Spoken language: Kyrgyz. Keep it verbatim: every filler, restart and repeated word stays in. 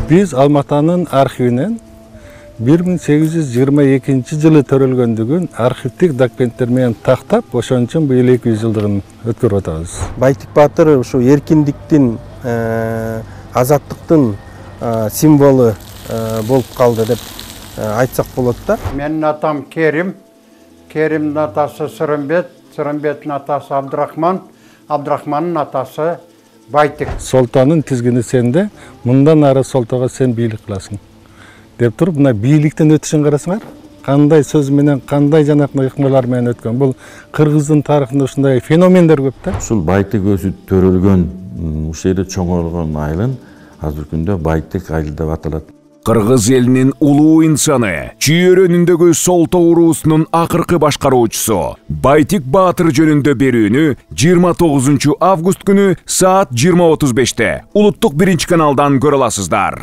Биз Алматанын архивинен бир миң сегиз жүз жыйырма экинчи жылы төрөлгөндүгүн архивдик документтер менен тактап, ошон үчүн быйыл эки жүз жылдыгын өткөрүп атабыз. Байтик баатыр ушу эркиндиктин, азаттыктын символу болуп калды деп айтсак болот да. Менин атам Керим, Керимдин атасы Сырымбет, Сырымбеттин атасы Абдрахман, Абдрахмандын атасы Байтик. Солтоонун тизгини сенде, мындан ары солтоого сен бийлик кыласың деп туруп, мына бийликтен өтүшүн карасыңар. Кандай сөз менен, кандай жанакы ыкмалар менен өткөн. Бул кыргыздын тарыхында ушундай феномендер көп да. Ушул Байтик өзү төрөлгөн, ушул жерде чоңойгон айылын азыркы күндө Байтик айылы деп аталат. Кыргыз элинин улуу инсаны, чүйөрөнүндөгү Солтоо уруусунун акыркы башкаруучусу Байтик баатыр жөнүндө берүүнү жыйырма тогузунчу август күнү саат жыйырма отуз беште улуттук биринчи каналдан көрө аласыздар.